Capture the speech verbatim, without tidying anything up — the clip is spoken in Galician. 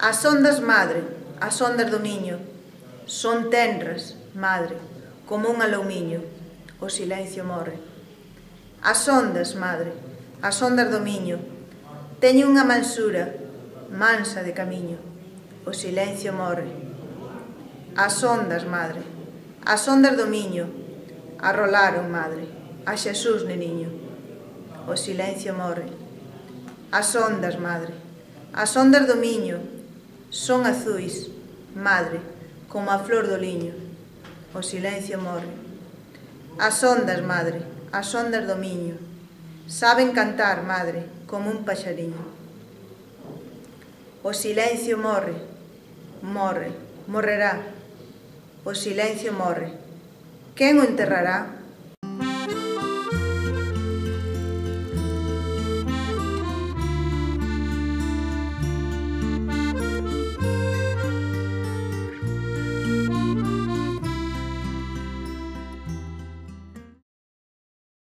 As ondas, madre, as ondas do Miño, son tenras, madre, como un aloumiño, o silencio morre. As ondas, madre, as ondas do Miño, teñen unha mansura, mansa de camiño, o silencio morre. As ondas, madre, as ondas do Miño, arrolaron, madre, a Xesús neniño, o silencio morre. As ondas, madre, as ondas do Miño, son azuis, madre, como a flor do liño, o silencio morre. As ondas, madre, as ondas do Miño, saben cantar, madre, como un paxariño. O silencio morre, morre, morrerá, o silencio morre. Quen o enterrará?